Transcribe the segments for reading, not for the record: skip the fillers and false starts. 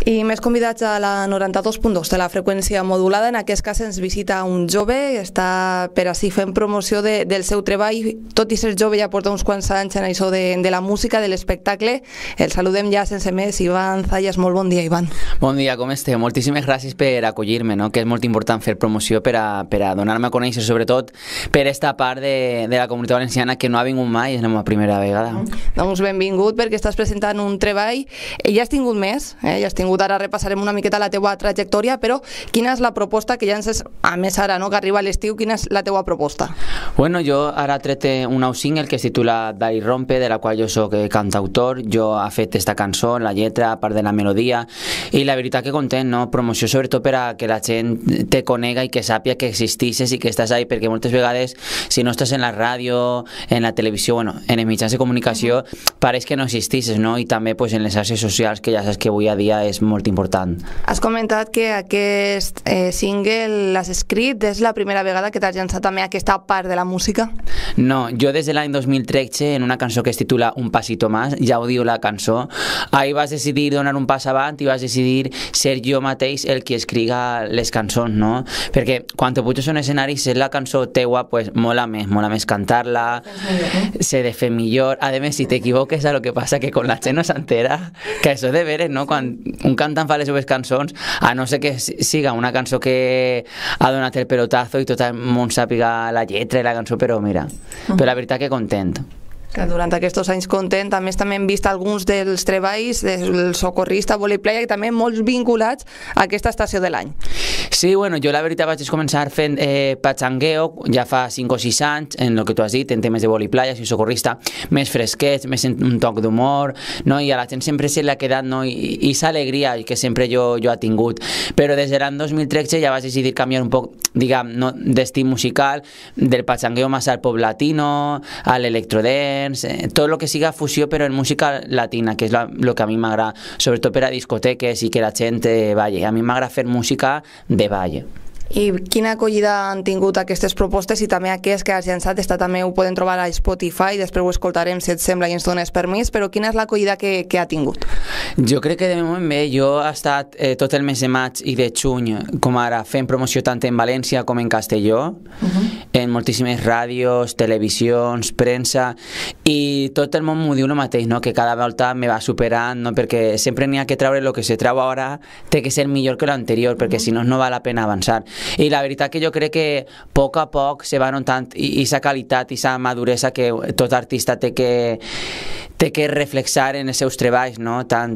I més convidats a la 92.2 de la freqüència modulada. En aquest cas ens visita un jove, està per així fent promoció del seu treball. Tot i ser jove ja porta uns quants anys en això de la música, de l'espectacle. El saludem ja sense més. Ivan Zayas, molt bon dia, Ivan. Bon dia, com esteu? Moltíssimes gràcies per acollir-me, no? Que és molt important fer promoció per a donar-me a conèixer, sobretot per esta part de la comunitat valenciana que no ha vingut mai, és la meva primera vegada. Doncs benvingut, perquè estàs presentant un treball. Ja has tingut més, ja has tingut. Ara repassarem una miqueta la teua trajectòria, però quina és la proposta que ja ens és, a més ara, no, que arriba l'estiu, quina és la teua proposta? Bueno, jo ara he tret un nou single que es titula Dai Rompe, de la qual jo soc cantautor. Jo he fet esta cançó, la lletra, a part de la melodia, i la veritat que content, no? Promoció sobretot per a que la gent te conega i que sàpia que existixes i que estàs ahí, perquè moltes vegades, si no estàs en la ràdio, en la televisió, bueno, en els mitjans de comunicació, pareix que no existixes, no? I també pues, en les xarxes socials, que ja saps que avui a dia és molt important. Has comentat que aquest single l'has escrit, és la primera vegada que t'has llançat també aquesta part de la música? No, jo des de l'any 2013, en una cançó que es titula Un pasito más, ja ho diu la cançó, ahir vas decidir donar un pas avant i vas decidir ser jo mateix el que escriga les cançons, no? Perquè quan te puges a un escenari, ser la cançó teua, pues mola més cantar-la, se de fer millor. A més, si t'equivoques, a lo que passa que con la gent no s'entera, que això de veres, no? Quan un cantant fa les seves cançons, a no ser que siga una cançó que ha donat el pelotazo i tot el món sàpiga la lletra i la cançó, però mira, però la veritat que content. Que durant aquests anys content, també hem vist alguns dels treballs del Socorrista, Vòlei Playa, que també molts vinculats a aquesta estació de l'any. Sí, bueno, jo la veritat vaig començar fent patxangueo ja fa 5 o 6 anys, en el que tu has dit, en temes de Vòlei Playa, soy socorrista, més fresquets, més un toc d'humor, no? I a la gent sempre se li ha quedat, no? I sa alegria que sempre jo he tingut. Però des de l'any 2013 ja vaig decidir canviar un poc, diguem, no, d'estil musical, del patxangueo més al pop latino, a l'electrodance, tot el que siga fusió però en música latina, que és el que a mi m'agrada, sobretot per a discoteques i que la gent balli. A mi m'agrada fer música de ball. I quina acollida han tingut aquestes propostes i també aquest que has llançat, també ho podem trobar a Spotify, després ho escoltarem si et sembla i ens dones permís, però quina és l'acollida que ha tingut? Jo crec que de moment bé, jo he estat tot el mes de maig i de juny, com ara, fent promoció tant en València com en Castelló, en moltíssimes ràdios, televisions, premsa, i tot el món m'ho diu el mateix, no? Que cada volta me va superant, no? Perquè sempre n'hi ha que treure el que se treu ara, té que ser millor que l'anterior, perquè si no, no val la pena avançar. I la veritat que jo crec que a poc se va notant aquesta qualitat i aquesta maduresa que tot artista té que reflexar en els seus treballs, no? Tant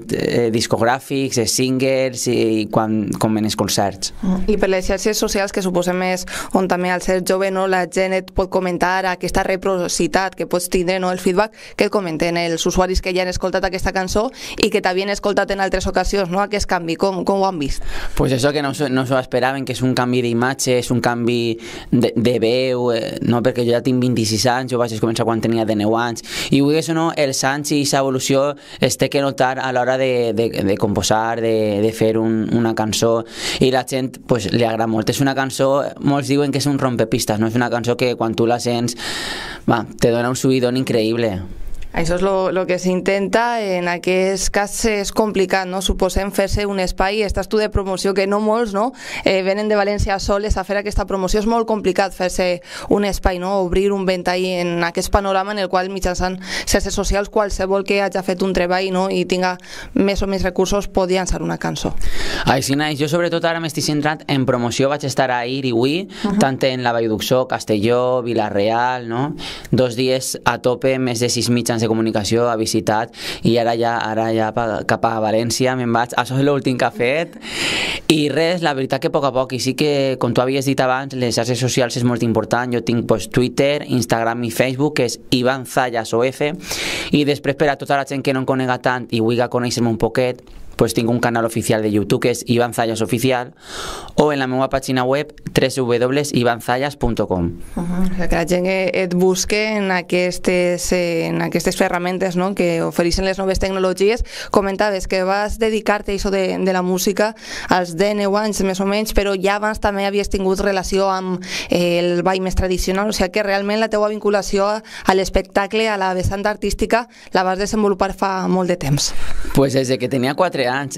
discogràfics, singles com en els concerts. I per les xarxes socials, que suposem és on també al ser jove, no, la gent et pot comentar aquesta reciprocitat que pots tindre, no, el feedback que et comenten els usuaris que ja han escoltat aquesta cançó i que t'havien escoltat en altres ocasions, no? Aquest canvi, com ho han vist? Pues això que no s'ho esperaven, que és un canvi d'imatge, és un canvi de veu, no? Perquè jo ja tinc 26 anys, jo vaig començar quan tenia 19 anys, i vull que això no, els anys i aquesta evolució es té que notar a l'hora de composar, de fer una cançó, i la gent pues, li agrada molt. És una cançó, molts diuen que és un rompepistes, no? És una cançó que quan tu la sents te dona un subidón increïble. Això és el que s'intenta. En aquest cas és complicat, no? Suposem fer-se un espai, estàs tu de promoció, que no molts, no? Venen de València soles a fer aquesta promoció. És molt complicat fer-se un espai, no? Obrir un ventall en aquest panorama en el qual mitjançant xarxes socials qualsevol que hagi fet un treball, no? I tinga més o més recursos pot llançar una cançó. Així naix. Jo sobretot ara m'estic centrat en promoció. Vaig estar ahir i avui, tant en la Vall d'Uxó, Castelló, Vila-real, no? 2 dies a tope, més de 6 mitjans de comunicació ha visitat, i ara ja cap a València me'n vaig. Això és l'últim que he fet, i res, la veritat que a poc, i sí que, com tu havies dit abans, les xarxes socials és molt important. Jo tinc Twitter, Instagram i Facebook, que és Ivan Zayas OF, i després per a tota la gent que no em conega tant i vulgui conèixer-me un poquet, pues tinc un canal oficial de YouTube que és Ivan Zayas Oficial, o en la meva pàgina web www.ivanzayas.com. Que la gent et busque en aquestes ferramentes, no? Que ofereixen les noves tecnologies. Comentaves que vas dedicar-te a això de la música als 19 anys més o menys, però ja abans també havies tingut relació amb el ball més tradicional, o sigui que realment la teua vinculació a l'espectacle, a la vessant artística, la vas desenvolupar fa molt de temps. Pues des de que tenia 4 de anys.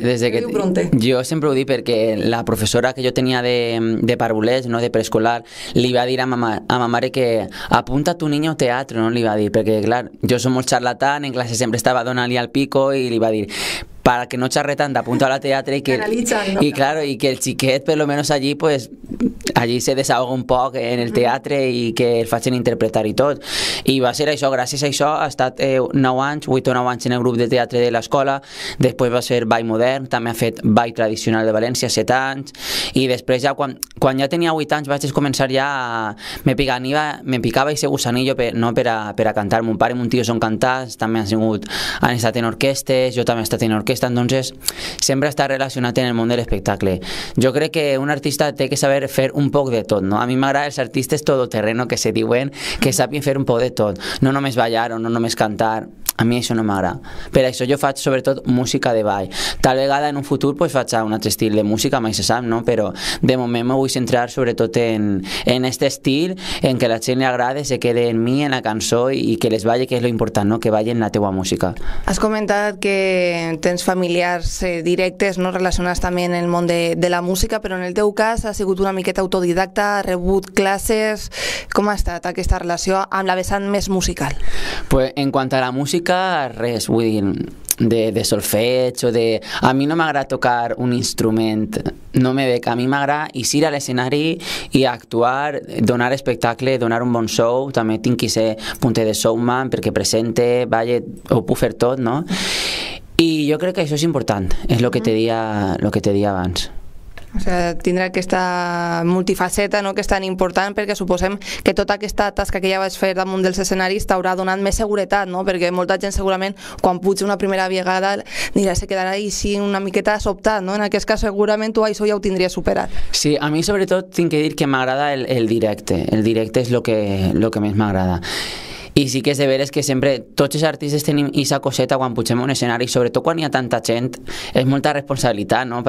Jo sempre ho dic perquè la professora que jo tenia de parvulès, no, de preescolar, li va dir a ma mare que apunta tu niño a teatre, no? Li va dir, perquè clar, jo som molt charlatán, en classe sempre estava donant-li al pico i li va dir para que no xerre tant, apunta al teatre y claro, y que el xiquet per lo menos allí pues allí se desahoga un poc en el teatre i que el facin interpretar i tot, i va ser això. Gràcies a això ha estat 9 anys, 8 o 9 anys en el grup de teatre de l'escola, després va ser ball modern, també ha fet ball tradicional de València 7 anys, i després ja quan ja tenia 8 anys vaig començar ja me picava ese gusanillo no per a cantar. Mon pare i mon tio són cantants, també han estat en orquestes, jo també he estat en orquestes, entonces sempre està relacionat en el món de l'espectacle. Jo crec que un artista té que saber fer un poc de tot, no? A mi m'agrada els artistes todoterreno que se diuen, que sàpien fer un poc de tot, no només ballar o no només cantar. A mi això no m'agrada. Per això jo faig sobretot música de ball. Tal vegada en un futur pues, faig un altre estil de música, mai se sap, no? Però de moment me vull centrar sobretot en este estil, en que la gent li agrada, se quede en mi, en la cançó i que les balli, que és lo important, no? Que ballin la teua música. Has comentat que tens familiars directes, no? Relacionats també en el món de la música, però en el teu cas has sigut una miqueta autodidacta, has rebut classes. Com ha estat aquesta relació amb la vessant més musical? Pues en quant a la música, res, vull dir, de solfeig o de... A mi no m'agrada tocar un instrument, no me veig. A mi m'agrada eixir a l'escenari i actuar, donar espectacle, donar un bon show. També tinc que ser punter de showman perquè presente, balle, ho puc fer tot, no? I jo crec que això és important, és el que te deia abans. O sigui, tindrà aquesta multifaceta, no?, que és tan important, perquè suposem que tota aquesta tasca que ja vaig fer damunt dels escenaris t'haurà donat més seguretat, no? Perquè molta gent segurament quan puja una primera vegada dirà, se quedarà així una miqueta sobtat, no? En aquest cas segurament tu això ja ho tindries superat. Sí, a mi sobretot tinc que dir que m'agrada el directe. El directe és el que més m'agrada. I sí que és de veres que sempre tots els artistes tenim aquesta coseta quan pugem a un escenari, sobretot quan hi ha tanta gent, és molta responsabilitat, no?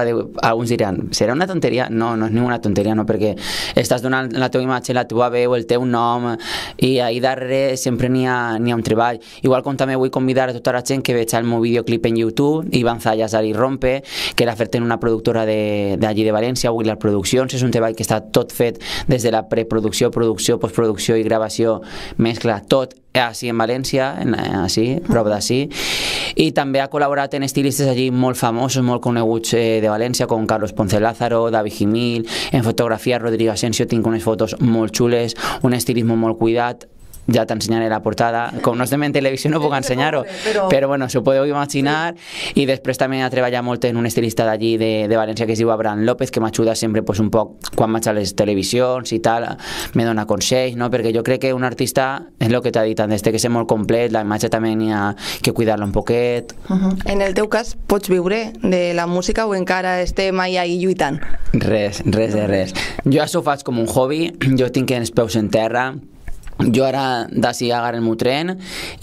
Alguns diran, serà una tonteria? No, no és ninguna tonteria, no? Perquè estàs donant la teva imatge, la teva veu, el teu nom, i ahí darrere sempre n'hi ha un treball. Igual com també vull convidar a tota la gent que veig el meu videoclip en YouTube, Iván Zayas Ari Rompe, que l'ha fet en una productora d'allí de València, Willar Produccions. És un treball que està tot fet des de la preproducció, producció, postproducció i gravació, mescla, tot així en València, així, prop d'ací, i també ha col·laborat en estilistes allí molt famosos, molt coneguts de València, com Carlos Ponce Lázaro, David Gimil. En fotografia, Rodrigo Asensio, tinc unes fotos molt xules, un estilisme molt cuidat. Ja t'ensenyaré la portada, com no estem en televisió no puc ensenyar-ho, però bueno, s'ho podeu imaginar. I després també ha treballat molt en un estilista d'allí de València que es diu Abraham López, que m'ajuda sempre un poc quan vaig a les televisions i tal, me dona consells, no? Perquè jo crec que un artista, és el que t'ha dit antes, té que ser molt complet, la imatge també n'hi ha que cuidar-la un poquet. En el teu cas, pots viure de la música o encara estem ahí lluitant? Res de res. Jo això ho faig com un hobby, jo tinc els peus en terra. Jo ara d'ací agarro el meu tren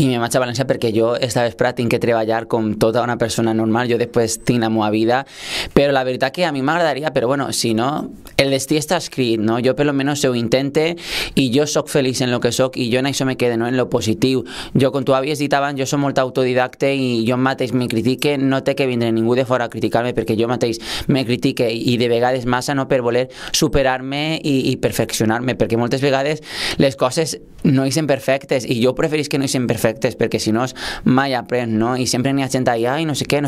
i me vaig a València perquè jo esta vespre tinc que treballar com tota una persona normal. Jo després tinc la meva vida, però la veritat que a mi m'agradaria, però bueno, si no, el destí està escrit, no? Jo per lo menos ho intente i jo soc feliç en lo que soc i jo en això me quedo, no? En lo positiu. Jo, com tu havies dit abans, jo soc molt autodidacte i jo mateix me critique, no té que vindre ningú de fora a criticar-me perquè jo mateix me critique i de vegades massa, no, per voler superar-me i perfeccionar-me, perquè moltes vegades les coses no ixen perfectes i jo preferís que no ixen perfectes perquè si no mai aprens, no? I sempre n'hi ha gent allà i no sé què.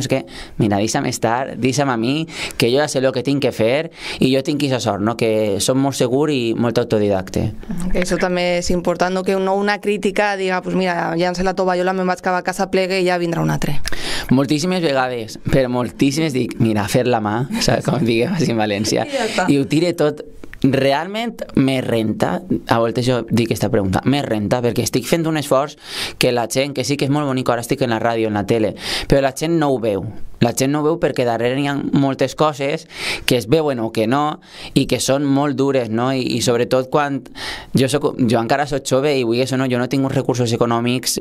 Mira, deixa'm estar, deixa'm a mi, que jo ja sé el que tinc que fer i jo tinc aquesta sort, no? Que soc molt segur i molt autodidacte. Que això també és important, no? Que una crítica diga, pues mira, ja en sé la tovallola, me'n vaig cap a casa, plegue i ja vindrà un altre. Moltíssimes vegades, però moltíssimes dic, mira, fer la mà, saps com diguem així en València, i ho tire tot. Realment me renta, a voltes jo dic aquesta pregunta, me renta perquè estic fent un esforç que la gent, que sí que és molt bonic, ara estic en la ràdio, en la tele, però la gent no ho veu. La gent no ho veu perquè darrere hi ha moltes coses que es veuen o que no i que són molt dures, no? I sobretot quan jo encara soc jove i vull això, no? Jo no tinc uns recursos econòmics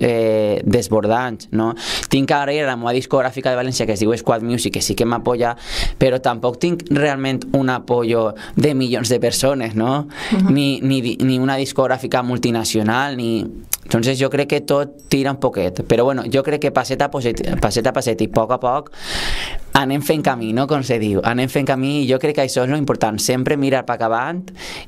desbordants, no? Tinc que agrair a la meva discogràfica de València que es diu Squad Music, que sí que m'apoya, però tampoc tinc realment un apoyo de milions de persones, no? Ni una discogràfica multinacional, ni... Entonces jo crec que tot tira un poquet, però bueno, jo crec que passet a passet i a poc anem fent camí, no? Com se diu, anem fent camí, i jo crec que això és lo important, sempre mirar per acabant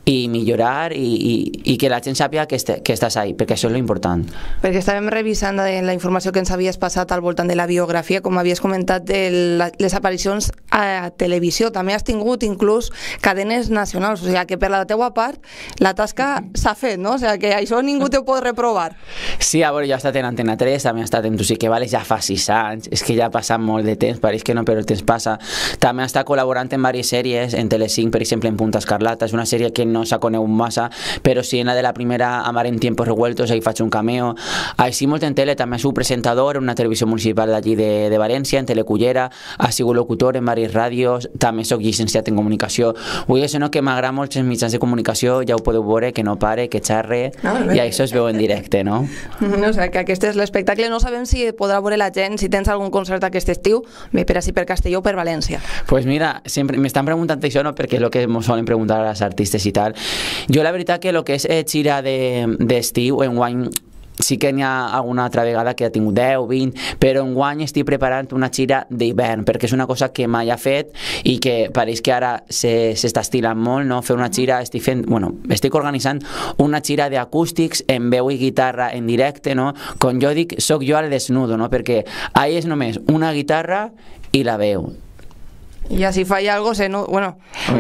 i millorar i que la gent sàpiga que estàs ahí, perquè això és lo important. Perquè estàvem revisant la informació que ens havies passat al voltant de la biografia, com havies comentat, de les aparicions a televisió, també has tingut inclús cadenes nacionals, o sigui que per la teua part la tasca s'ha fet, no? O sigui que això ningú te ho pot reprovar. Sí, a veure, jo he estat en Antena 3, també he estat en Tu sí que vales ja fa 6 anys, és que ja ha passat molt de temps, pareix que no, però el temps passa. També he estat col·laborant en diverses sèries, en Telecinc, per exemple, en Punta Escarlata, és una sèrie que no s'ha conegut massa, però sí en la de la primera Amar en tiempos revueltos, ahí faig un cameo. Així molt en tele, també he sigut presentador en una televisió municipal d'allí de València, en Telecullera, ha sigut locutor en diverses ràdios, també soc llicenciat en comunicació. Vull dir, no, que m'agrada molt els mitjans de comunicació, ja ho podeu veure, que no pare, que xarre, i això es veu en directe, no? No, o sigui, que aquest és l'espectacle. No sabem si podrà veure la gent, si tens algun concert aquest estiu, bé per així per Castelló o per València. Pues mira, sempre m'estan preguntant això, no? Perquè és el que ens solen preguntar a les artistes i tal. Jo la veritat que el que és gira d'estiu, enguany sí que n'hi ha alguna altra vegada que ha tingut 10, 20, però enguany estic preparant una gira d'hivern, perquè és una cosa que mai ha fet i que pareix que ara s'està estilant molt, no? Fer una gira, estic organitzant una gira d'acústics en veu i guitarra en directe, no? Com jo dic, soc jo al desnudo, no? Perquè ahí és només una guitarra i la veu. I si falla algo,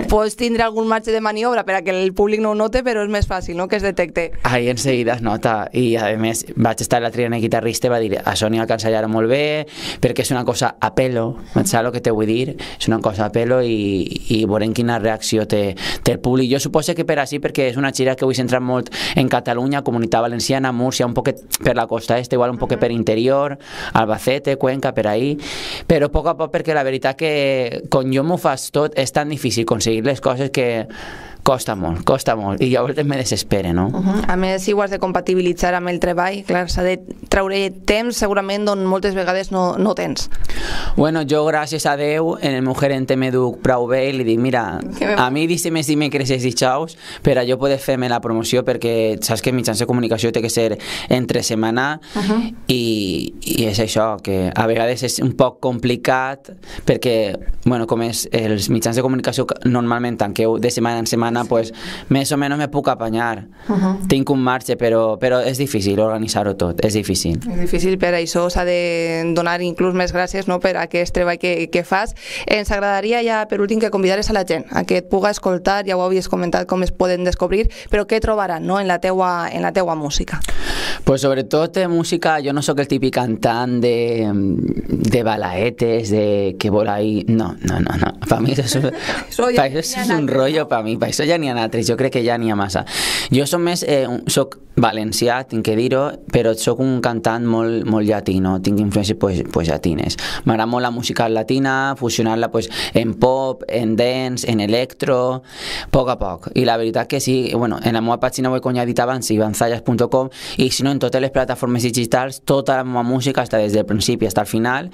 pots tindre algun marge de maniobra per a que el públic no ho note, però és més fàcil, no?, que es detecte. Ahí enseguida es nota, i a més vaig estar l'altre dia en el guitarrista i va dir, això n'hi alcançarà molt bé, perquè és una cosa a pelo, saps el que te vull dir? És una cosa a pelo i veurem quina reacció té el públic. Jo suposo que per així, perquè és una gira que vull centrar molt en Catalunya, Comunitat Valenciana, Múrcia, un poquet per la costa est, igual un poquet per interior, Albacete, Cuenca, per ahí, però a poc, perquè la veritat que quan jo m'ho fas tot és tan difícil aconseguir les coses que costa molt, i llavors me desespera, no? A més, si ho has de compatibilitzar amb el treball, clar, s'ha de treure temps segurament on moltes vegades no tens. Bueno, jo gràcies a Déu en el meu gerente m'educ prou bé i li dic, mira, a mi deixa'm els dimecres i dijous per a jo poder fer-me la promoció, perquè saps que mitjans de comunicació té que ser entre setmana i és això, que a vegades és un poc complicat perquè, com és els mitjans de comunicació normalment tanqueu de setmana en setmana, pues més o menys me puc apanyar. Tinc un marge, però és difícil organitzar-ho tot, és difícil. És difícil, per això s'ha de donar inclús més gràcies, no?, per aquest treball que fas. Ens agradaria ja, per últim, que convidares a la gent a que et puga escoltar, ja ho havies comentat com es poden descobrir, però què trobaran, no?, en la teua música. Pues sobretot música, jo no sóc el típic cantant de balaetes, de que vol ahí, no. Per mi això és un rotllo, per mi, per això ja n'hi ha altres, jo crec que ja n'hi ha massa. Jo soc valencià, tinc que dir-ho, però soc un cantant molt llatí, no? Tinc influències pues llatines. M'agrada molt la música latina, fusionar-la pues en pop, en dance, en electro, a poc. I la veritat que sí, en la meva pàgina web, com ja he dit abans, ivanzallas.com, i si no, en totes les plataformes digitals, tota la meva música està des del principi fins al final,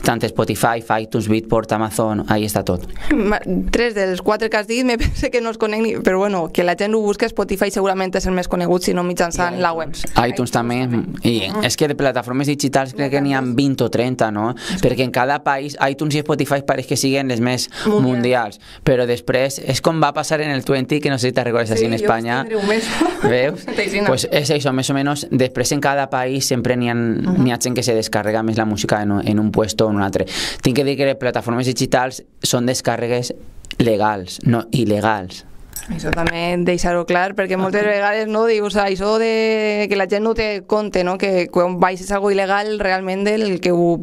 tant Spotify, iTunes, Beatport, Amazon, ahí està tot. 3 dels 4 que has dit, me pensa que no els conec ni, però que la gent ho busca, Spotify segurament és el més conegut, si no mitjançant la web. iTunes també, i és que de plataformes digitals crec que n'hi ha 20 o 30, no? Perquè en cada país, iTunes i Spotify pareix que siguen les més mundials, però després és com va passar en el 20, que no sé si te'n recordes així en Espanya. Veus? Pues és això, més o menys, després en cada país sempre n'hi ha gent que se descarrega més la música en un puesto o en un altre. Tinc que dir que les plataformes digitals són descàrregues legals, no il·legals. Això també deixar-ho clar, perquè moltes vegades no dius això de que la gent no té compte, no? Que quan baixes algo il·legal realment el que ho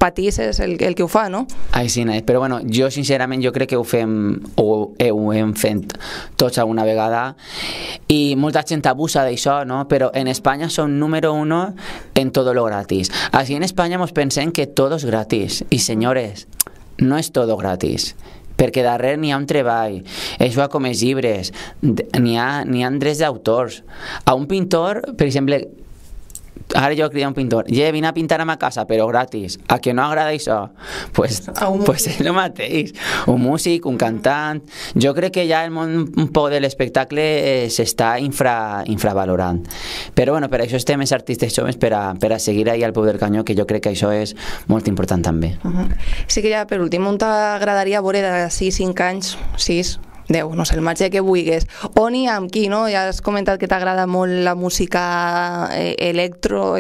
patís és el que ho fa, no? Ai, sí, però jo sincerament jo crec que ho hem fet tots alguna vegada i molta gent abusa d'això, no? Però en Espanya som número 1 en todo lo gratis. Así en España nos pensem que todo es gratis i senyores, no és todo gratis, perquè darrere n'hi ha un treball, això com els llibres, n'hi ha drets d'autors. A un pintor, per exemple, ara jo crido un pintor, vine a pintar a ma casa, però gratis, a que no agrada això? Pues és el mateix, un músic, un cantant. Jo crec que ja el món un poc de l'espectacle s'està infravalorant, però bueno, per això estem els artistes joves per a seguir ahí al peu del canyó, que jo crec que això és molt important també. Sí que ja per últim, on t'agradaria veure de 5 anys, 6, 10, no sé, el marge que vulguis, on i amb qui, no? Ja has comentat que t'agrada molt la música electro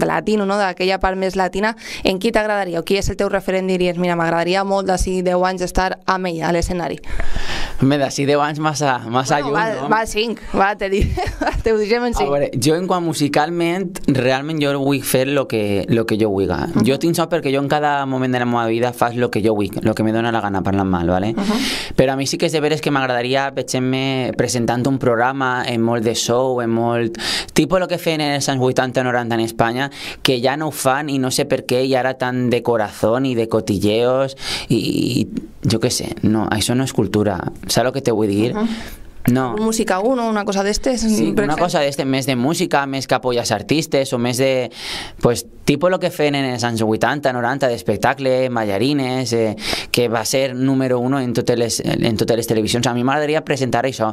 latino, no? D'aquella part més latina. En qui t'agradaria? O qui és el teu referent? Diries, mira, m'agradaria molt d'ací 10 anys estar amb ella a l'escenari. Home, d'ací 10 anys massa lluny, no? Va 5, va, te ho deixem en 5. A veure, jo en quant musicalment, realment jo vull fer lo que jo vull. Jo tinc sort perquè jo en cada moment de la meva vida faig lo que jo vull, lo que me dona la gana, parlant mal, ¿vale? Però a mi sí que és de veres que m'agradaria veure-me presentant un programa en molt de show, en molt... Tipo lo que feien en els anys 80-90 en Espanya, que ja no ho fan i no sé per què, i ara tan de corazón i de cotilleos i jo què sé, no, això no és cultura. Saps el que te vull dir? No. Música 1, una cosa d'estes? Sí, una cosa d'estes, més de música, més que apoyas artistes, o més de... Pues, tipo lo que feien en els anys 80, 90, d'espectacle, ballarines, que va ser número 1 en totes les televisions. A mi m'agradaria presentar això,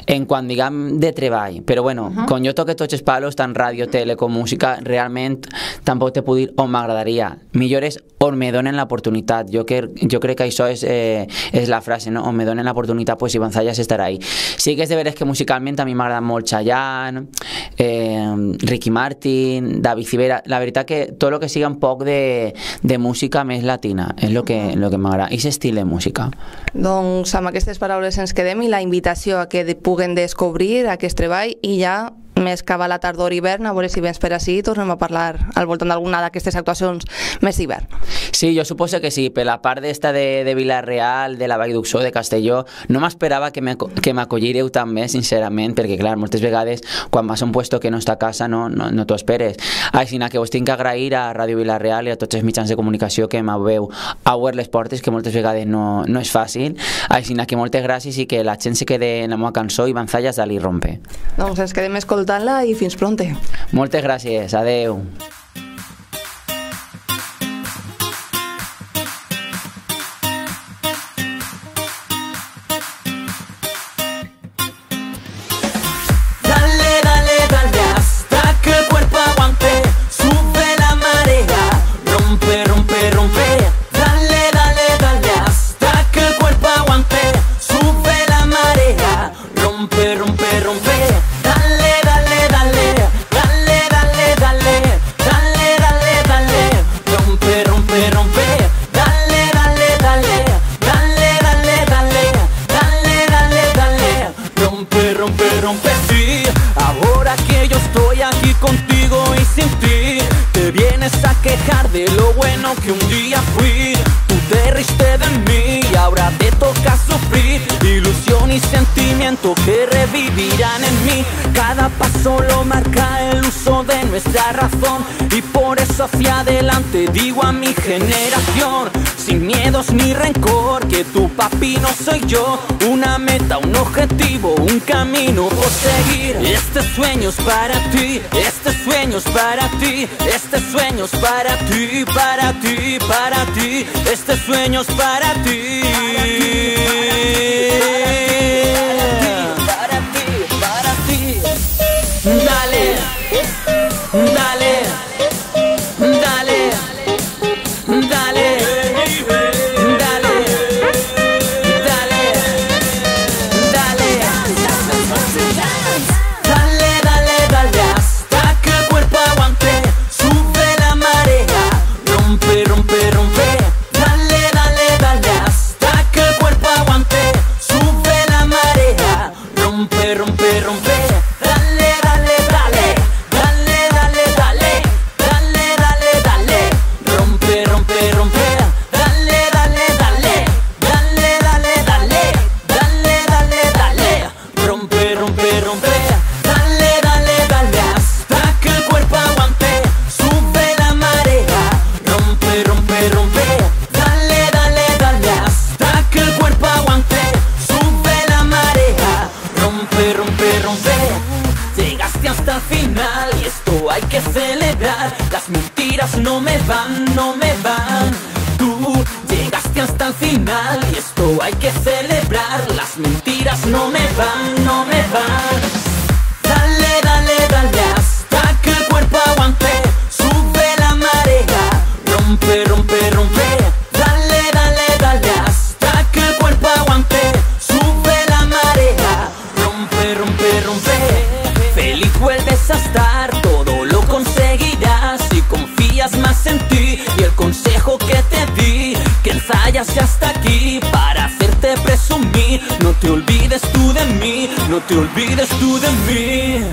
en quan diguem de treball. Però bueno, quan jo toque tots els palos, tant ràdio, tele com música, realment tampoc te puc dir on m'agradaria. Millor és on me donen l'oportunitat. Jo crec que això és la frase, no? On me donen l'oportunitat, pues Ibanzallas estarà ahí. Sí que és de veres que musicalment a mi m'agrada molt Chayanne, Ricky Martin, David Civera. La veritat que tot el que siga un poc de música més latina és el que m'agrada, i aquest estil de música. Doncs amb aquestes paraules ens quedem, i la invitació a que puguen descobrir aquest treball, i ja més que va la tardor i hivern, a veure si vens per ací i tornem a parlar al voltant d'alguna d'aquestes actuacions més d'hivern. Sí, jo suposo que sí. Per la part d'esta de Vila-real, de la Vall d'Uxó, de Castelló, no m'esperava que m'acollireu també, sincerament, perquè clar, moltes vegades quan vas a un puesto que no està a casa no t'ho esperes. Així que us tinc que agrair a Ràdio Vila-real i a tots els mitjans de comunicació que m'heu obert les portes, que moltes vegades no és fàcil. Així que moltes gràcies i que la gent se quede en la meva cançó Ibanzallas d'Ali Rompe. Doncs ens quedem escoltant-la i fins pronte. Moltes gràcies, adeu. De lo bueno que un día fui, tú te riste de mí y ahora te toca sufrir. Ilusión y sentimiento que revivirán en mí. Cada paso lo marca el uso de nuestra razón, y por eso hacia adelante digo a mi generación, sin miedos ni rencor, que tu papi no soy yo. Una meta, un objetivo, un camino por seguir. Este sueño es para ti, este sueño es para ti, este sueño es para ti, para ti, para ti. Este sueño es para ti. Para ti, para ti. Dale, dale, dale, dale. Rompe, rompe, rompe, dale, dale, dale, hasta celebrar. Las mentiras no me van, no me van. Tú llegaste hasta el final y esto hay que celebrar. Las mentiras no me van, no me van. Dale, dale, dale hasta que el cuerpo aguante. Sube la marea, rompe, rompe, rompe. Dale, dale, dale hasta que el cuerpo aguante. Sube la marea, rompe, rompe, rompe. Feliz vuelves a estar, todo lo conseguirás si confías más en ti. Y el consejo que te di, que ensayas ya hasta aquí para hacerte presumir. No te olvides tú de mí, no te olvides tú de mí.